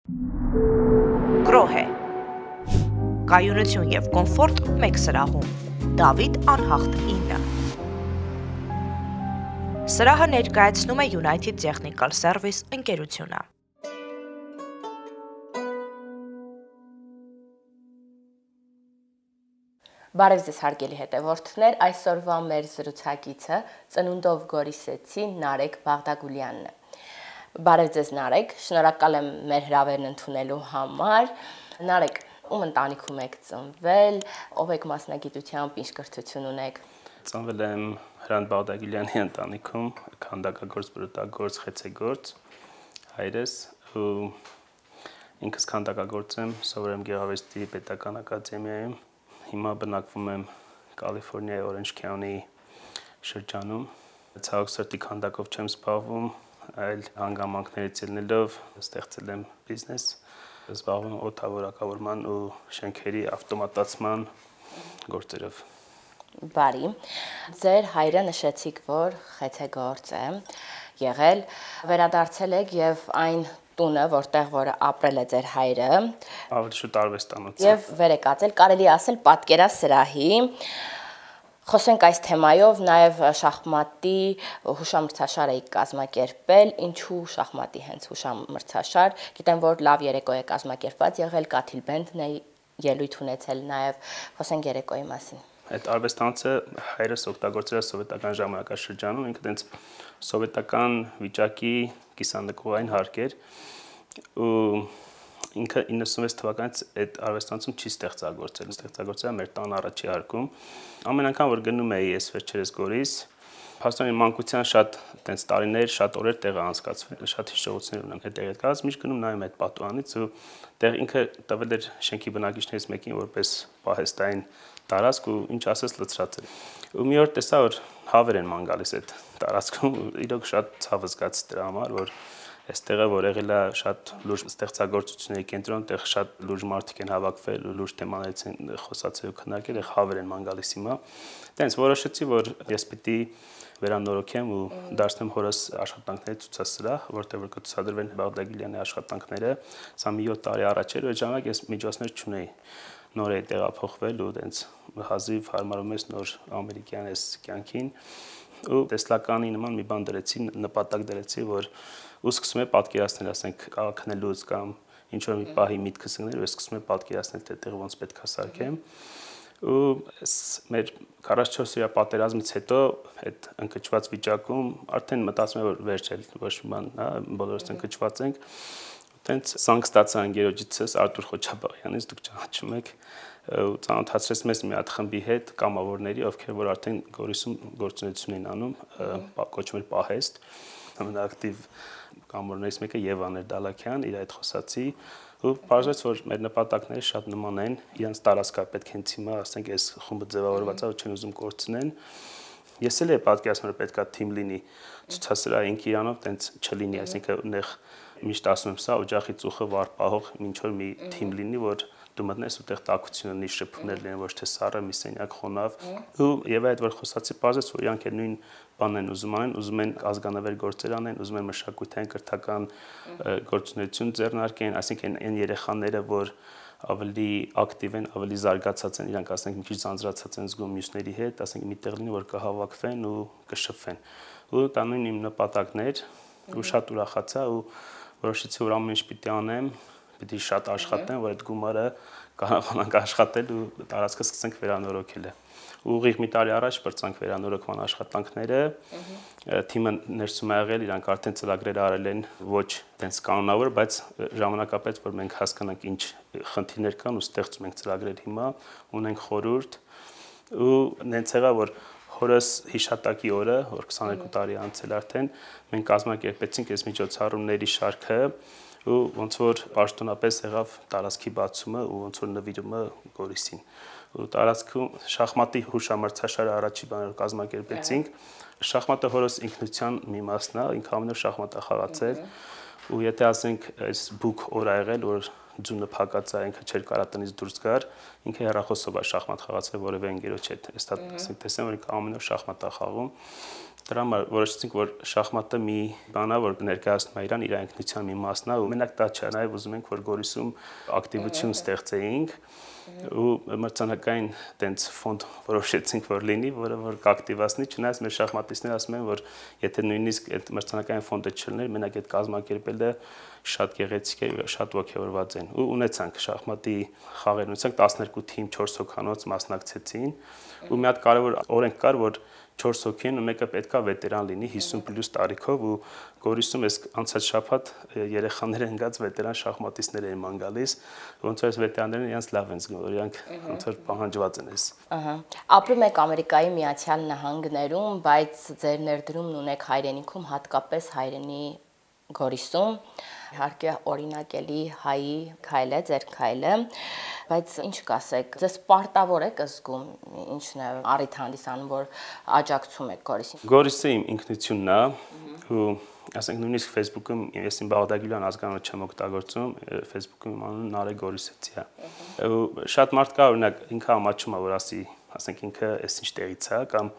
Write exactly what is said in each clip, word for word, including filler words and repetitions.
Գրոհ է։ Կայունություն և կոմֆորտ մեկ սրահում։ Դավիթ անհախտ ինը։ Սրահը ներկայացնում է United Technical Service ընկերությունը։ Բարև ձեզ հարգելի հետևորդներ, այսօրվա մեր զրուցակիցը ծնունդով Գորիսեցի Նարեկ Բաղդագուլյանն է։ Բարև ձեզ Նարեկ, շնորհակալ եմ մեր հրավերն ընդունելու համար։ Նարեկ, ում ընտանիքում եք ծնվել, ով եք մասնագիտությամբ, ինչ կրթություն ունեք։ Ծնվել եմ Հրանտ Բաղդագուլյանի ընտանիքում, քանդակագործ, բրուտագործ, խեցեգործ, հայրս ու ինքս քանդակագործ եմ, սովորում Գեղարվեստի պետական ակադեմիայում։ Հիմա բնակվում եմ Կալիֆոռնիայի Օրենջ քաունթի շրջանում։ Ցավոք սրտի քանդակով չեմ զբաղվում, այլ հանգամանքներից ելնելով ստեղծել եմ բիզնես, զբաղվում եմ օդավորակավորման ու շենքերի ավտոմատացման գործերով։ Բարի։ Ձեր հայրը նշեցիք, որ խեցեգործ է եղել, վերադարձել եք եւ այն տունը, որտեղ որ ապրել է ձեր հայրը, ավելի շուտ արվեստանոց եւ վեր եք ածել, կարելի ասել պատկերասրահի։ Խոսենք այս թեմայով, նաեւ շախմատի հուշամրցաշար եք կազմակերպել, ինչու շախմատի հենց հուշամրցաշար, գիտեմ, որ լավ երեկո է կազմակերպված եղել, Կաթիլբենդն է ելույթ ունեցել, նաեւ խոսենք երեկոյի մասին։ Այդ արվեստանոցը հայրս օգտագործել է սովետական ժամանակաշրջանում, ինքը տենց սովետական վիճակի կիսանդկողային հարկ էր ու ինքը իննսունվեց թվականից այդ արվեստանոցում չի ստեղծագործել, ստեղծագործել է մեր տան առաջի հարկում։ Ամեն անգամ որ գնում էի ես վերջերս Գորիս, փաստորեն մանկության շատ տենց տարիներ, շատ օրեր տեղը անցկացվել, շատ հիշողություններ ունեմ այդ տեղի հետ կապված, միշտ գնում նայում այդ պատուհանից ու տեղ ինքը տվել էր շենքի բնակիչներից մեկին որպես պահեստային տարածք ու ինչ ասես լցրած էր։ Ու մի օր տեսա որ հավեր են ման գալիս այդ տարածքում, իրոք շատ ցավ զգաց դրա համար, որ այստեղը որ եղել է շատ լուրջ ստեղծագործությունների կենտրոն, այդտեղ շատ լուրջ մարդիկ են հավաքվել ու լուրջ թեմաներից են խոսացել ու քննարկել, այդտեղ հավեր են ման գալիս հիմա։ Տենց որոշեցի, որ ես պիտի վերանորոգեմ ու դարձնեմ հորս աշխատանքների ցուցասրահ, որտեղ որ կցուցադրվեն Բաղդագուլյանի աշխատանքները։ Սա մի յոթ տարի առաջ էր, այդ ժամանակ ես միջոցներ չունեի։ Նոր է տեղափոխվել ու տենց հազիվ հարմարում ես նոր ամերիկյան այս կյանքին ու տեսլականի նման մի բան դրեցի, նպատակ դրեցի, որ ու սկսում եմ պատկերացնել, ասենք, քնելուց կամ ինչ որ մի պահի միտքս ընկներ, ու սկսում եմ պատկերացնել, թե այդտեղ ոնց պետք է սարքեմ։ Ու մեր քառասունչորս օրյա պատերազմից հետո այդ ընկճված վիճակում արդեն մտածում եմ, որ վերջ է, ոչ մի բան, հա, բոլորս ընկճված ենք։ Տենց սանկ ստացա ընկերոջիցս Արտուր Խոչաբաղյանից, դուք ճանաչում եք, ու ծանոթացրեց մեզ մի հատ խմբի հետ, կամավորների, ովքեր որ արդեն Գորիսում գործունեություն էին անում, կոչվում էր Պահեստ, ամենաակտիվ կամավորներից մեկը Եվան էր Դալաքյան, իր այդ խոսացի, ու բարձրաց որ մեր նպատակները շատ նման են, իրանց տարածքա պետք է հենց հիմա, ասենք, այս խումբը ձևավորված է, որ չեն ուզում կորցնեն։ Ես էլ եմ պատկերացնում, որ պետքա թիմ լինի ցուցասրահ ինքը իրանով տենց չլինի, այսինքն նեղ միշտ ասում եմ սա օջախի ծուխը վար պահող ինչ որ մի թիմ լինի, որ դու մտնես ու տեղ տակություն ունի, շփումներ լինեն, ոչ թե սառը մի սենյակ խոնավ։ Ու եւ այդ որ խոսացի, բարձրաց որ իրանք էլ նույն բանն են ուզում անեն, ուզում են ազգանավեր գործեր անեն, ուզում են մշակութային կրթական գործունեություն ձեռնարկեն, այսինքն այն երեխաները, որ ավելի ակտիվ են, ավելի զարգացած են, իրանք ասենք մի քիչ զանզրացած են զգում մյուսների հետ, ասենք միտեղ լինի, որ կհավաքվեն ու կշփվեն։ Ու դա նույն իմ նպատակն էր, ու շատ ուրախացա ու որոշեցի որ ամեն ինչ պիտի անեմ, պիտի շատ աշխատեմ, որ այդ գումարը կարողանանք աշխատել ու տարածքը սկսենք վերանորոգել։ Ուղիղ մի տարի առաջ բրցանք վերանորոգման աշխատանքները, թիմը ներսում ա եղել, իրանք արդեն ծրագրեր արել են ոչ տենց կանոնավոր, բայց ժամանակապես որ մենք հասկանանք ինչ խնդիրներ կան ու ստեղծում ենք ծրագրեր հիմա, ունենք խորհուրդ ու նենց եղա որ հորս հիշատակի օրը, որ քսաներկու տարի անցել արդեն, մենք կազմակերպեցինք այս միջոցառումների շարքը ու ոնց որ պաշտոնապես եղավ տարածքի բացումը ու ոնց որ նվիրումը Գորիսին։ Ու տարածքում շախմատի հուշամրցաշարը առաջի բաներ կազմակերպեցինք։ Շախմատը հորս ինքնության մի մասն է, ինքը ամենուր շախմատ է խաղացել ու եթե ասենք այս բուկ օր ա եղել, որ ձունը փակած է, ինքը չէր կարա տնից դուրս գար, ինքը հեռախոսով է շախմատ խաղացել որևէ ընկերոջ հետ։ Էստա ասենք տեսեմ, որ ինքը ամեն օր շախմատ է խաղում։ Դրա համար որոշեցինք, որ շախմատը մի բան է, որ ներկայացնում է իրան իր ինքնության մի մասն է, ու մենակ դա չէ, նաև ուզում ենք, որ Գորիսում ակտիվություն ստեղծեինք ու մրցանակային տենց ֆոնդ որոշեցինք, որ լինի, որը որ կակտիվացնի, չնայած մեր շախմատիստները ասում են, որ եթե նույնիսկ այդ մրցանակային ֆոնդը չլներ, մենակ այդ կազմակերպելը շատ գեղեցիկ է, շատ ոգևորված են։ Ու ունեցանք շախմատի խաղեր, ունեցանք տասներկու թիմ, չորս հոգանոց մասնակցեցին, ու մի հատ կարևոր օրենք կար, որ չորս հոգի են ու մեկը պետքա վետերան լինի հիսուն պլյուս տարիքով ու Գորիսում էս անցած շաբաթ երեխաները ընկած վետերան շախմատիստներ էին ման գալիս, ոնց որ այս վետերաններն իրենց լավ են զգում, որ իրանք ոնց որ պահանջված են էս։ Ահա։ Ապրում եք Ամերիկայի Միացյալ Նահանգներում, բայց ձեր ներդրումն ունեք հայրենիքում, հատկապես հայրենի Գորիսում, իհարկե օրինակելի հայի քայլ է, ձեր քայլը, բայց ինչ կասեք, ձեզ պարտավոր եք զգում, ինչն է առիթ հանդիսանում, որ աջակցում եք Գորիսին։ Գորիսը իմ ինքնությունն է ու ասենք նույնիսկ Facebook-ում ես իմ Բաղդագյուլյան ազգանունը չեմ օգտագործում, Facebook-ում իմ անունը Նարեկ Գորիսեցի է։ Ու շատ մարդ կա, օրինակ ինքը ամաչում է, որ ասի, ասենք ինքը էս ինչ տեղից է կամ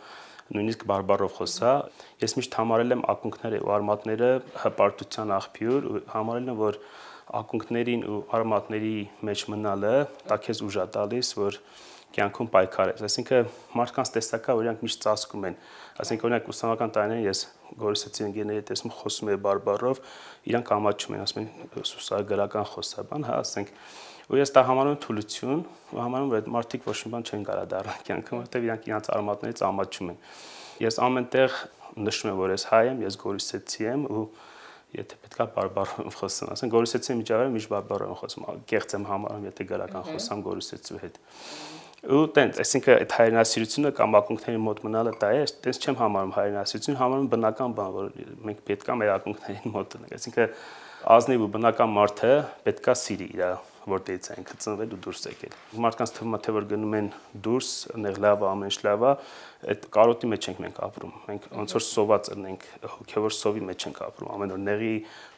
նույնիսկ բարբառով խոսա, ես միշտ համարել եմ ակունքները ու արմատները հպարտության աղբյուր ու համարել եմ, որ ակունքներին ու արմատների մեջ մնալը դա քեզ ուժ է տալիս, որ կյանքում պայքարես։ Այսինքն մարդկանց տեսակա, որ իրանք միշտ ծածկում են։ Այսինքն օրինակ ուսանական տարիներին ես Գորիսեցի ընկերների տեսնում խոսում եմ բարբառով, իրանք ամաչում են, ասում են սուսագրական խոսաբան, հա, ասենք ու ես դա համարում եմ թուլություն, ու համարում եմ, որ այդ մարդիկ ոչ մի բան չեն կարող դառնալ կյանքում, որտեղ իրանք իրանց արմատներից ամաչում են։ Ես ամենտեղ նշում եմ, որ ես հայ եմ, ես Գորիսեցի եմ ու եթե պետքա բարբառով խոսեմ, ասենք Գորիսեցի միջավայրում միշտ բարբառով եմ խոսում, կեղծ եմ համարում, եթե գրական խոսամ Գորիսեցու հետ։ Ու տենց, այսինքն այդ հայրենասիրությունը կամ ակունքների մոտ մնալը դա է, տենց չեմ համարում հայրենասիրություն, համարում բնական բան, որ մենք պետքա մեր ակունքներին մոտ լինենք։ Այսինքն ազնիվ ու բնական մարդը պետքա սիրի իր որտեղից է ինքը ծնվել ու դուրս եկել։ Մարդկանց թվում է թե որ գնում են դուրս, այնեղ լավ է, ամեն ինչ լավ է, այդ կարոտի մեջ ենք մենք ապրում։ Մենք ոնց որ սոված ենք, հոգևոր սովի մեջ ենք ապրում։ Ամեն օր նեղի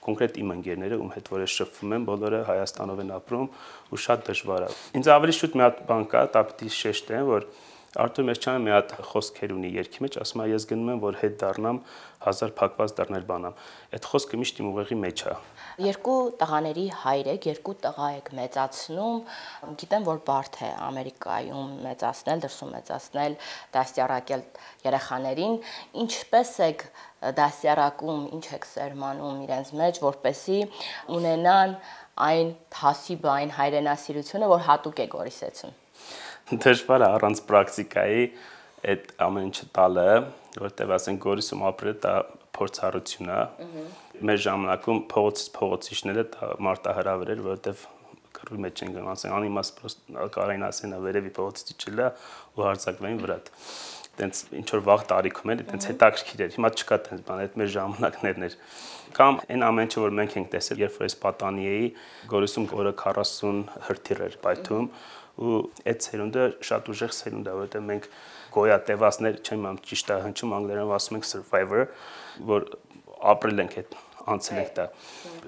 կոնկրետ իմ ընկերները, ում հետ որ ես շփվում եմ, բոլորը Հայաստանով են ապրում ու շատ դժվար է։ Ինձ ավելի շուտ մի հատ բան կա, դա պիտի շեշտեմ, որ Արտուր Մեսչյանը մի հատ խոսքեր ունի երգի մեջ, ասում է ես գնում եմ որ հետ դառնամ հազար փակված դռներ բանամ։ Այդ խոսքը միշտ իմ ուղեղի մեջ է։ Երկու տղաների հայր եք, երկու տղա եք մեծացնում, գիտեմ որ բարդ է Ամերիկայում մեծացնել, դրսում մեծացնել, դաստիարակել երեխաներին, ինչպես եք դաստիարակում, ինչ եք սերմանում իրենց մեջ, որպեսզի ունենան այն թասիբը, այն հայրենասիրությունը, որ հատուկ է Գորիսեցուն։ Դժվար է առանց պրակտիկայի այդ ամեն ինչը տալը, որտեղ ասենք Գորիսում ապրելը դա փորձառություն է։ Մեր ժամանակում փողոցից փողոցիչները դա մարտահրավեր էր, որտեղ կռվի մեջ են գնում, ասեն անիմաց պրոստը կարային ասեն վերևի փողոցից իջելա ու հարձակվային վրա։ Տենց ինչ որ վաղ տարիքում էլի տենց հետաքրքիր էր։ Հիմա չկա տենց բան, այդ մեր ժամանակներն էր։ Կամ այն ամեն ինչը որ մենք ենք տեսել, երբ որ ես պատանի էի, Գորիսում օրը քառասուն հրթիռ էր պայթում ու այդ սերունդը շատ ուժեղ սերունդ է, որովհետև մենք գոյատևածներ, չեմ ամ ճիշտ է հնչում անգլերենով ասում ենք survivor, որ ապրել ենք այդ անցել ենք դա։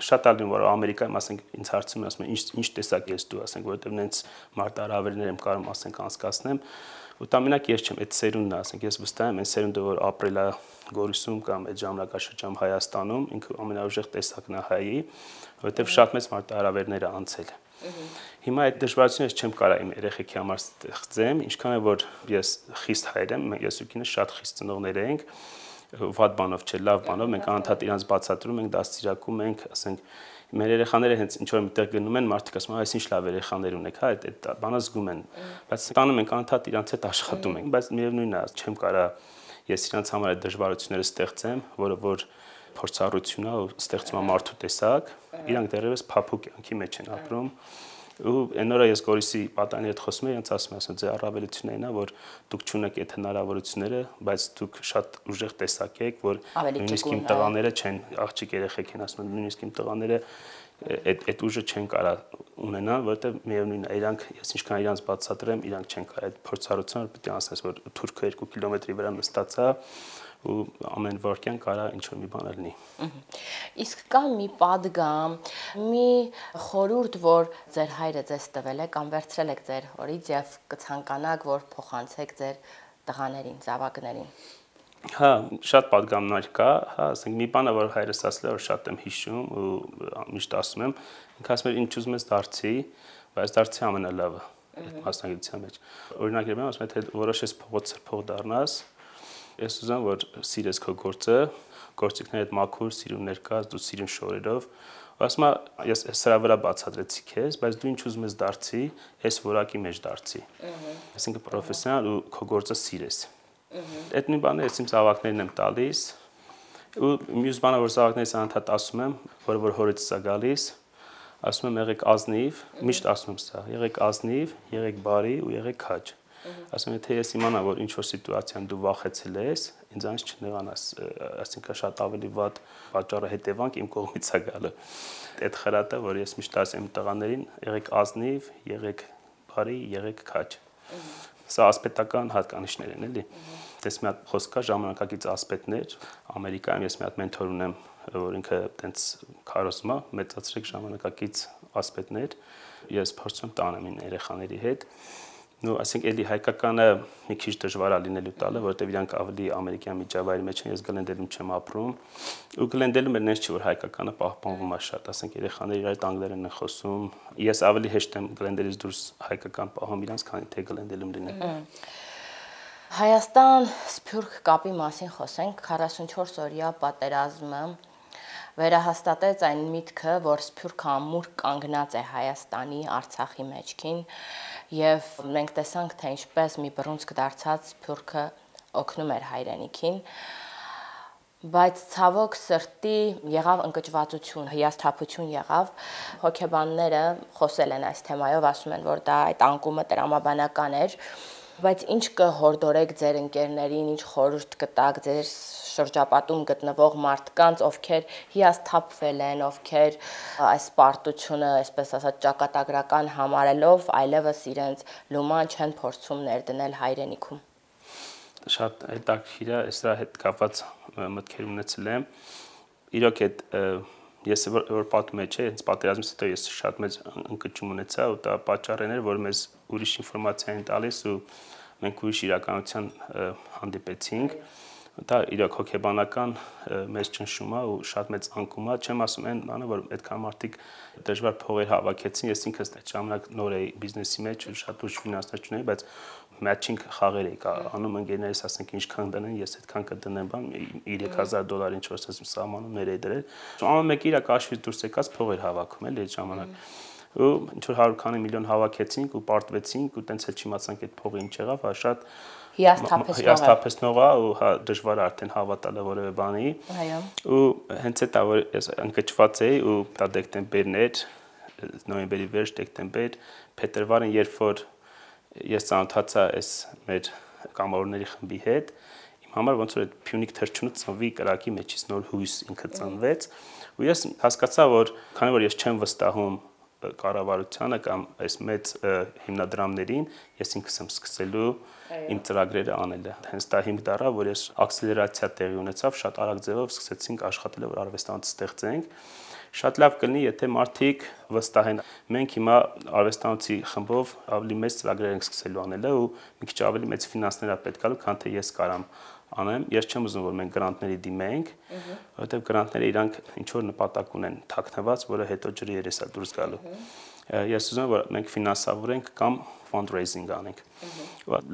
Շատ ալին որ Ամերիկայում ասենք ինձ հարցում են, ասում են ինչ ինչ տեսակ ես դու, ասենք որովհետև նենց մարտահրավերներ եմ կարող ասենք անցկացնեմ, ու դա մենակ ես չեմ, այդ սերունդն է, ասենք ես վստահ եմ, այն սերունդը որ ապրել է Գորիսում կամ այդ ժամանակաշրջանում Հայաստանում, ինքը ամենաուժեղ տեսակն է հայի, որովհետև շատ մեծ մարտահրավերներ է անցել։ Հիմա այդ դժվարությունից չեմ կարող իմ երեխեքի համար ստեղծեմ, ինչքան է որ ես խիստ հայր եմ, ես ու կինս շատ խիստ ծնողներ ենք, վատ բանով չէ, լավ բանով, մենք անընդհատ իրանց բացատրում ենք, դաստիարակում ենք, ասենք մեր երեխաները հենց ինչ որ միտեղ գնում են, մարդիկ ասում են, այս ինչ լավ երեխաներ ունեք, հա, այդ բանը զգում են, բայց տանում ենք անընդհատ իրանց հետ աշխատում ենք, բայց միևնույնն է, չեմ կարող ես իրանց համար այդ դժվարությունները ստեղծեմ, որը որ փորձառություն է ու ստեղծում է մարդու տեսակ, իրանք դեռևս փափուկ կյանքի մեջ են ապրում։ Ու այն օրը ես Գորիսի պատանի հետ խոսում եմ, ինձ ասում են, ձեր առավելությունն է, որ դուք չունեք այդ հնարավորությունները, բայց դուք շատ ուժեղ տեսակ եք, որ նույնիսկ իմ տղաները չեն, աղջիկ երեխեք են ասում, նույնիսկ իմ տղաները այդ այդ ուժը չեն կարող ունենալ, որովհետև միևնույնն է, իրանք ես ինչքան իրանց բացատրեմ, իրանք չեն կարող այդ փորձառությունը պետք է ասես, որ թուրքը երկու կիլոմետրի վրա նստած է ու ամեն վարքյան կարա ինչ-որ մի բան լինի։ Իսկ կա մի պատգամ, մի խորհուրդ, որ ձեր հայրը ձեզ տվել է կամ վերցրել եք ձեր հորից եւ կցանկանաք, որ փոխանցեք ձեր տղաներին, զավակներին։ Հա, շատ պատգամներ կա, հա, ասենք մի բանը, որ հայրս ասել է, որ շատ եմ հիշում ու միշտ ասում եմ, ինքը ասում էր ինչ ուզում ես դարձի, բայց դարձի ամենալավը այդ մասնագիտության մեջ։ Օրինակ ելույթ ասում եմ, թե որոշես փողոց սրբող դառնաս, ես ուզում որ սիրես քո գործը, գործիքներդ մաքուր, սիրուն ներկաս, դու սիրուն շորերով, ասում եմ, ես սրա վրա բացատրեցի քեզ, բայց դու ինչ ուզում ես դարձի, այս որակի մեջ դարձի։ Այսինքն պրոֆեսիոնալ ու քո գործը սիրես։ Այդ նույն բանը ես իմ զավակներին եմ տալիս, ու մյուս բանը որ զավակներից անդադ ասում եմ, որը որ հորից է գալիս, ասում եմ եղեք ազնիվ, միշտ ասում եմ սա, եղեք ազնիվ, եղեք բարի ու եղեք քաջ։ Ասում եմ, թե ես իմանամ, որ ինչ որ սիտուացիան դու վախեցել ես, ինձանից չնեղանաս, այսինքն շատ ավելի վատ պատճառը հետևանք իմ կողմից է գալը։ Այդ խրատը, որ ես միշտ ասեմ տղաներին, եղեք ազնիվ, եղեք բարի, եղեք քաջ։ Սա ասպետական հատկանիշներ են, էլի։ Դες մի հատ խոսք կա ժամանակակից ասպետներ, Ամերիկայում ես մի հատ մենթոր ունեմ, որ ինքը տենց քարոզում է, մեծացրեք ժամանակակից ասպետներ, ես փորձում եմ տանեմ իմ երեխաների հետ։ Ну, ասենք էլի հայկականը մի քիչ դժվար է լինելու տալը, որովհետև իրանք ավելի ամերիկյան միջավայրի մեջ են, ես Գլենդելում չեմ ապրում, ու Գլենդելում էլ նենց չի որ հայկականը պահպանվում է շատ, ասենք երեխաները իրար հետ անգլերեն են խոսում, ես ավելի հեշտ եմ Գլենդելից դուրս հայկական պահում իրանց, քան թե Գլենդելում լինեմ։ Հայաստան Սփյուռք կապի մասին խոսենք, քառասունչորս օրյա պատերազմը վերահաստատեց այն միտքը, որ Սփյուռքը ամուր կանգնած է Հայաստանի, Արցախի մեջքին, եւ մենք տեսանք, թե ինչպես մի բռունցք դարձած Սփյուռքը օգնում էր հայրենիքին, բայց ցավոք սրտի եղավ ընկճվածություն, հիասթափություն եղավ, հոգեբանները խոսել են այս թեմայով, ասում են, որ դա այդ անկումը տրամաբանական էր, բայց ինչ կհորդորեք ձեր ընկերներին, ինչ խորհուրդ կտաք ձեր շրջապատում գտնվող մարդկանց, ովքեր հիասթափվել են, ովքեր այս պարտությունը, այսպես ասած, ճակատագրական համարելով, այլևս իրենց լուման չեն փորձում ներդնել հայրենիքում։ Շատ հետաքրքիր է, սրա հետ կապված մտքեր ունեցել եմ։ Իրոք այդ ես որ պատում եմ, չէ, հենց պատերազմից հետո ես շատ մեծ ընկճում ունեցա, ու դա պատճառն էր, որ մեզ ուրիշ ինֆորմացիա են տալիս ու մենք ուրիշ իրականության հանդիպեցինք։ Դա իրոք հոգեբանական մեծ ճնշում է ու շատ մեծ անկում է, չեմ ասում այն բանը, որ այդքան մարդիկ դժվար փողեր հավաքեցին, ես ինքս այդ ժամանակ նոր էի բիզնեսի մեջ ու շատ ուժ ֆինանսներ չունեի, բայց մատչինգ խաղեր էի անում ընկերներիս, ասենք ինչքան դնեն, ես այդքան կդնեմ, բան երեք հազար դոլար ինչ որ ասեմ սահմանումներ էի դրել։ Ամեն մեկը իր կաշվից դուրս եկած փողեր հավաքում էլի այդ ժամանակ։ Ու ինչ որ հարյուր քանի միլիոն հավաքեցինք ու պարտվեցինք ու տենց էլ չիմացանք այդ փողը ինչ եղավ, հա շատ հիասթափեցնող է ու հա դժվար է արդեն հավատալը որևէ բանի։ Այո։ Ու հենց այդ որ ես ընկճված էի ու դա դեկտեմբերն էր, նոյեմբերի վերջ դեկտեմբեր, փետրվարին երբ որ ես ծանոթացա այս մեր կամավորների խմբի հետ, իմ համար ոնց որ այդ Փյունիկ թռչունը ծնվի կրակի մեջից նոր հույս ինքը ծնվեց, ու ես հասկացա, որ քանի որ ես չեմ վստահում կառավարությանը կամ այս մեծ հիմնադրամներին, ես ինքս եմ սկսելու իմ ծրագրերը անելը։ Հենց դա հիմք դառավ, որ ես ակսելերացիա տեղի ունեցավ, շատ արագ ձևով սկսեցինք աշխատել, որ արվեստանոց ստեղծենք։ Շատ լավ կլինի, եթե մարդիկ վստահեն։ Մենք հիմա արվեստանոցի խմբով ավելի մեծ ծրագրեր ենք սկսելու անելը ու մի քիչ ավելի մեծ ֆինանսներ է պետք գալու, քան թե ես կարամ անեմ։ Ես չեմ ուզում, որ մենք գրանտների դիմենք, որովհետև գրանտները իրանք ինչ որ նպատակ ունեն թաքնված, որը հետո ջրի երես է դուրս գալու։ Ես ուզում եմ, որ մենք ֆինանսավորենք կամ fundraising անենք։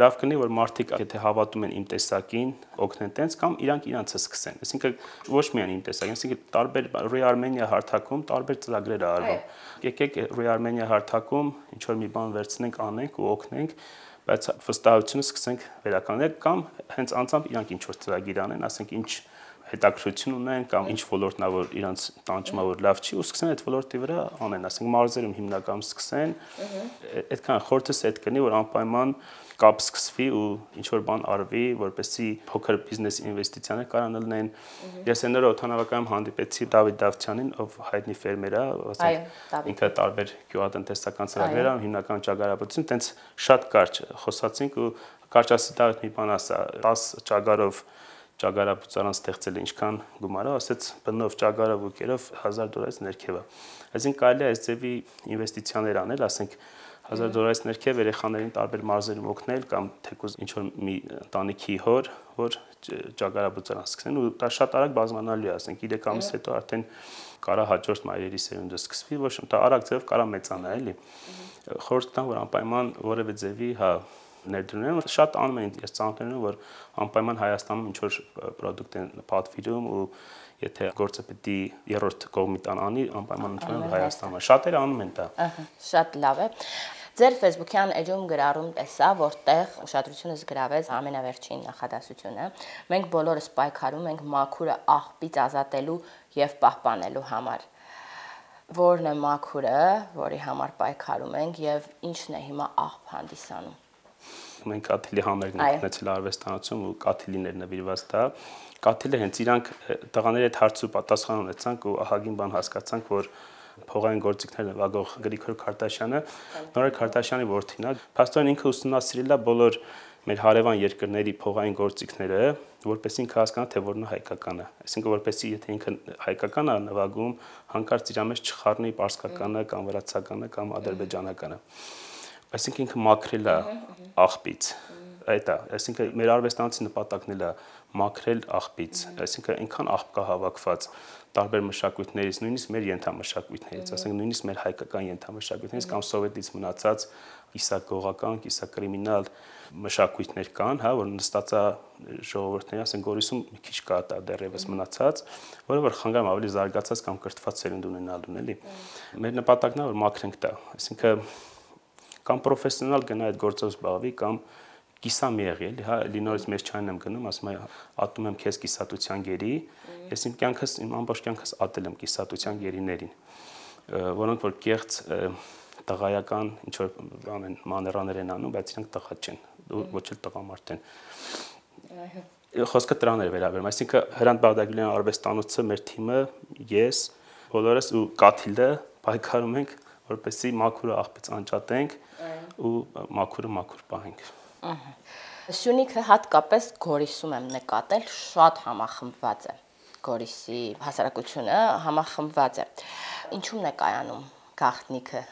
Լավ կլինի, որ մարդիկ եթե հավատում են իմ տեսակին, օգնեն տենց կամ իրանք իրանցը սկսեն։ Այսինքն ոչ միայն իմ տեսակին, այսինքն տարբեր Re-Armenia հարթակում տարբեր ծրագրեր է արվում։ Եկեք Re-Armenia հարթակում ինչ որ մի բան վերցնենք, անենք ու օգնենք, բայց վստահությունը սկսենք վերականգնել կամ հենց անձամբ իրանք ինչ որ ծրագիր անեն, ասենք ինչ հետաքրություն ունեն կամ ինչ ոլորտնա որ իրանց տանջումա որ լավ չի ու սկսեն այդ ոլորտի վրա անեն, ասենք մարզերում հիմնականում սկսեն, այդքան խորհուրդս այդ կնի որ անպայման կապ սկսվի ու ինչ որ բան արվի, որպեսզի փոքր բիզնես ինվեստիցիաներ կարան լինեն։ Ես այն օրը օդանավակայանում հանդիպեցի Դավիթ Դավթյանին, ով հայտնի ֆերմեր է, ասենք ինքը տարբեր գյուղատնտեսական ծրագրեր անում, հիմնական ճագարապետություն, տենց շատ կարճ խոսացինք ու կարճ ասի Դավիթ մի բան ասա, տասը ճագարով ճագարապետարան ստեղծել է ինչքան գումարը, ասեց բնով ճագարով ու կերով հազար դոլարից ներքև է։ Այսինքն կարելի է այս ձևի ինվեստիցիաներ անել, ասենք հազար դոլարից ներքև երեխաներին տարբեր մարզերում օգնել կամ թեկուզ ինչ որ մի ընտանիքի հոր, որ ճագարաբուծարան սկսեն ու դա շատ արագ բազմանալու է, ասենք երեք ամիս հետո արդեն կարա հաջորդ մայրերի սերունդը սկսվի, ոչ դա արագ ձև կարա մեծանա, էլի։ Խորհուրդ տամ, որ անպայման որևէ ձևի, հա, ներդրում են, շատ անում են, ես ծանոթ եմ, որ անպայման Հայաստանում ինչ որ պրոդուկտ են պատվիրում ու եթե գործը պետք է երրորդ կողմի տան անի, անպայման ընդունում Հայաստանը։ Շատերը անում են դա։ Ահա, շատ լավ է։ Ձեր Facebook-յան էջում գրառում տեսա, որտեղ ուշադրությունս գրավեց ամենավերջին նախադասությունը։ Մենք բոլորս պայքարում ենք մաքուրը աղբից ազատելու եւ պահպանելու համար։ Որն է մաքուրը, որի համար պայքարում ենք եւ ինչն է հիմա աղբ հանդիսանում։ Մենք կաթիլի համերգն ենք ունեցել արվեստանոցում ու կաթիլիներ նվիրված դա։ Կաթիլը հենց իրանք տղաների հետ հարց ու պատասխան ունեցանք ու ահագին բան հասկացանք, որ փողային գործիքներ նվագող Գրիգոր Քարտաշյանը Նորեր Քարտաշյանի որդին է։ Փաստորեն ինքը ուսումնասիրել է բոլոր մեր հարևան երկրների փողային գործիքները, որպեսզի ինքը հասկանա, թե որն է հայկականը։ Այսինքն որպեսզի եթե ինքը հայկական է նվագում, հանկարծ իր մեջ չխառնի պարսկականը կամ վրացականը կամ ադրբեջանականը։ Այսինքն ինքը մաքրել է աղբից։ Այդ է, այսինքն մեր արվեստանոցի նպատակն էլ է մաքրել աղբից, այսինքն այնքան աղբ կա հավաքված տարբեր մշակույթներից, նույնիսկ մեր ենթամշակույթներից, ասենք նույնիսկ մեր հայկական ենթամշակույթներից կամ սովետից մնացած կիսագողական, կիսակրիմինալ մշակույթներ կան, հա, որ նստած է ժողովուրդների, ասենք Գորիսում մի քիչ կա դա դեռևս մնացած, որը որ խանգարում ավելի զարգացած կամ կրթված սերունդ ունենալուն, էլի։ Մեր նպատակն է որ մաքրենք դա, այսինքն կամ պրոֆեսիոնալ գնա այդ գործով զբաղվի կամ կիսամիեղի, էլի, հա, լինորից մեծ չայն եմ գնում, ասում եմ, ատում եմ քեզ կիսատության գերի, ես իմ կյանքս, իմ ամբողջ կյանքս ատել եմ կիսատության գերիներին, որոնք որ կեղծ տղայական ինչ որ բան են, մաներաներ են անում, բայց իրանք տղա չեն, ոչ էլ տղամարդ են։ Խոսքը դրան էր վերաբերում, այսինքն Հրանտ Բաղդասարյան արվեստանոցը, մեր թիմը, ես, բոլորս ու Կաթիլը պայքարում ենք, որպեսզի մաքուրը աղբից անջատենք ու մաքուրը մաքուր պահենք։ Սյունիքը հատկապես Գորիսում եմ նկատել, շատ համախմբված է։ Գորիսի հասարակությունը համախմբված է։ Ինչու՞մն է կայանում գաղտնիքը։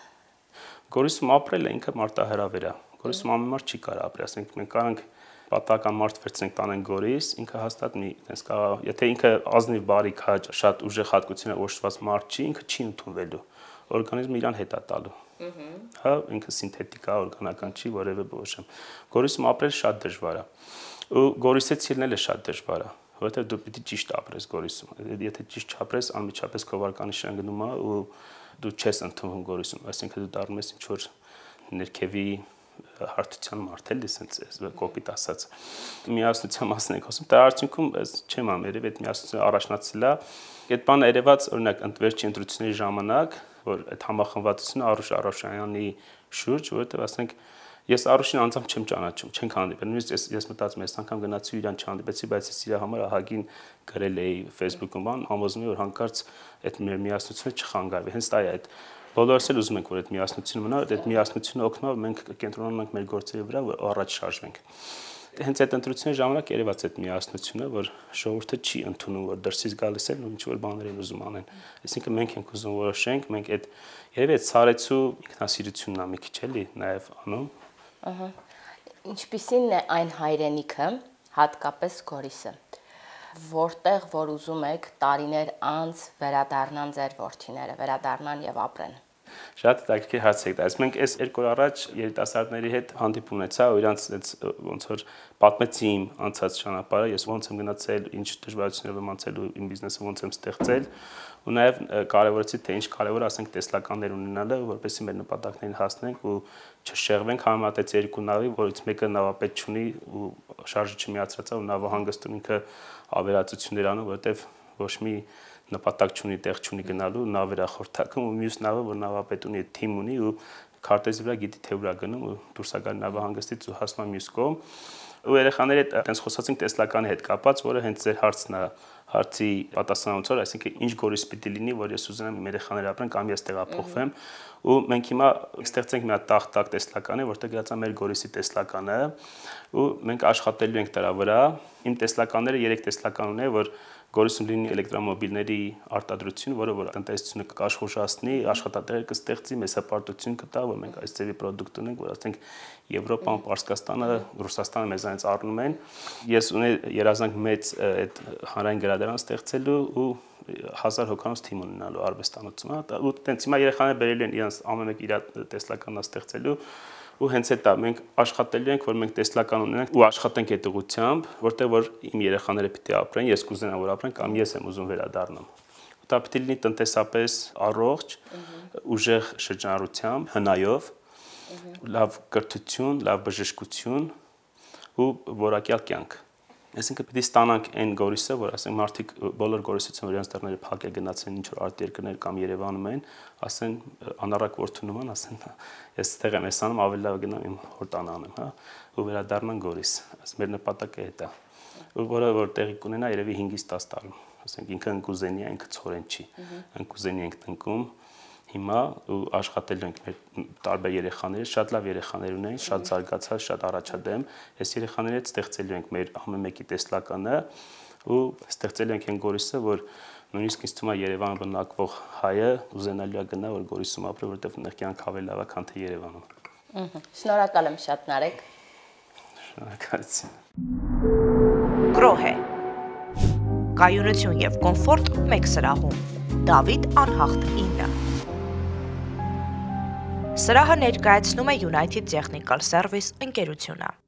Գորիսում ապրելը ինքը մարտահրավեր է։ Գորիսում ամեն մարդ չի կարող ապրել, ասենք մենք կարանք պատահական մարդ վերցնենք տանենք Գորիս, ինքը հաստատ մի այդպես կարող, եթե ինքը ազնիվ բարի քաջ, շատ ուժեղ հատկությունը օժտված մարդ չի, ինքը չի ընդունվելու։ Օրգանիզմը իրան հետ է տալու։ Հա, ինքը սինթետիկ է, օրգանական չի, որևէ բոշեմ։ Գորիսում ապրել շատ դժվար է։ Ու Գորիսից ելնելը շատ դժվար է, որովհետև դու պիտի ճիշտ ապրես Գորիսում։ Եթե ճիշտ չապրես, անմիջապես քո վարկանիշը գնում է ու դու չես ընդունվում Գորիսում, այսինքն դու դառնում ես ինչ որ ներքևի հարթության մարդ էլի, ասենց կոպիտ ասած։ Միասնության մասն ենք խոսում, դա արդյունքում չեմ ամ, երևի այդ միասնությունը առաջնացել է։ Այդ բանը երևաց, օրինակ, ընտրվեցի ընտրությունների ժամանակ, որ այդ համախմբվածությունը Արուշ Արաշյանի շուրջ, որովհետև ասենք ես Արուշին անձամբ չեմ ճանաչում, չենք հանդիպել։ Նույնիսկ ես ես մտածում եմ, այս անգամ գնացի իրան չհանդիպեցի, բայց ես իր համար ահագին գրել էի Facebook-ում, համոզում եմ, որ հանկարծ այդ մեր միասնությունը չխանգարվի։ Հենց դա է այդ բոլորս էլ ուզում ենք, որ այդ միասնությունը մնա, այդ միասնությունը օգնա, որ մենք կենտրոնանանք մեր գործերի վրա, որ առաջ շարժվենք։ Հենց այդ ընտրությունների ժամանակ երևաց այդ միասնությունը, որ ժողովուրդը չի ընդունում, որ դրսից գալիս են ու ինչ որ բաներ են ուզում անեն։ Այսինքն մենք ենք ուզում որոշենք, մենք այդ երևի այդ սարեցու ինքնասիրությունն է մի քիչ էլի նաև անում։ Ահա։ Ինչպիսին է այն հայրենիքը, հատկապես Գորիսը, որտեղ որ ուզում եք տարիներ անց վերադառնան ձեր որդիները, վերադառնան եւ ապրեն։ Շատ հետաքրքիր հարց եք տալիս։ Մենք այս երկու օր առաջ երիտասարդների հետ հանդիպում ունեցա ու իրանց այդ ոնց որ պատմեցի իմ անցած ճանապարհը, ես ոնց եմ գնացել, ինչ դժվարություններ եմ անցել ու իմ բիզնեսը ոնց եմ ստեղծել ու նաև կարևորեցի թե ինչ կարևոր է, ասենք տեսլականներ ունենալը, որպեսզի մեր նպատակներին հասնենք ու չշեղվենք, համեմատեց երկու նավի, որից մեկը նավապետ չունի ու շարժը չմիացրած է ու նավը հանգստում ինքը ավերածություններ անում, որովհետև ոչ մի նպատակ չունի, տեղ չունի գնալու, նավեր է խորթակում ու մյուս նավը, որ նավապետ ունի, թիմ ունի ու քարտեզի վրա գիտի թե ուր է գնում ու դուրս է գալի նավահանգստից ու հասնում է մյուս կողմ։ Ու երեխաների հետ այդպես խոսացինք տեսլականի հետ կապած, որը հենց ձեր հարցն է, հարցի պատասխանատվությունը, այսինքն ինչ Գորիս պիտի լինի, որ ես ուզենամ իմ երեխաները ապրեն կամ ես տեղափոխվեմ։ Ու մենք հիմա ստեղծենք մի հատ տախտակ տեսլականի, որտեղ գրած է մեր Գորիսի տեսլականը, ու մենք աշխատելու ենք դրա վրա։ Իմ տեսլականները երեք տեսլական ունեն, որ Գորիսում լինի էլեկտրոմոբիլների արտադրություն, որը որ տնտեսությունը կաշխուժացնի, աշխատատեղեր կստեղծի, մեծ հպարտություն կտա, որ մենք այս ձևի պրոդուկտ ունենք, որ ասենք Եվրոպան, Պարսկաստանը, Ռուսաստանը մեզանից առնում են։ Ես ունեի երազանք մեծ այդ հանրային գրադարան ստեղծելու ու հազար հոգանոց թիմ ունենալու արվեստանոցում, հա, ու տենց հիմա երեխաները բերելու են իրենց ամեն մեկ իր տեսլականն ստեղծելու ու հենց այդ է մենք աշխատելու ենք, որ մենք տեսլական ունենանք ու աշխատենք այդ ուղղությամբ, որտեղ որ իմ երեխաները պիտի ապրեն, ես կուզենամ որ ապրեն կամ ես եմ ուզում վերադառնամ։ Դա պիտի լինի տնտեսապես առողջ, ուժեղ շրջանառությամբ, հնայով, լավ կրթություն, լավ բժշկություն ու որակյալ կյանք։ Այսինքն պիտի ստանանք այն Գորիսը, որ ասենք մարդիկ բոլոր Գորիսացիներ իրենց դռները փակել գնացեն ինչ որ արտերկրներ կամ Երևանում են, ասեն անառակ որդու նման, ասեն ես ստեղ եմ ես անում, ավելի լավ գնամ իմ հորտան անեմ, հա, ու վերադառնան Գորիս։ Ասես մեր նպատակը դա է։ Ու որը որ տեղի կունենա երևի հինգից տաս տարում։ Ասենք ինքը ընկուզենի է, ինքը ցորեն չի։ Ընկուզենի ենք տնկում հիմա ու աշխատելու ենք մեր տարբեր երեխաների, շատ լավ երեխաներ ունենք, շատ զարգացած, շատ առաջադեմ։ Այս երեխաների հետ ստեղծելու ենք մեր ամեն մեկի տեսլականը ու ստեղծելու ենք այն Գորիսը, որ նույնիսկ ինձ թվում է Երևանը բնակվող հայը ուզենալու է գնա, որ Գորիսում ապրի, որովհետև նեղ կյանք ավելի լավ է, քան թե Երևանում։ Շնորհակալ եմ շատ, Նարեկ։ Շնորհակալություն։ Գրոհե։ Կայունություն եւ կոմֆորտ մեկ սրահում։ Դավիթ Անհախտ ինը։ Սրահը ներկայացնում է United Technical Service ընկերությունը։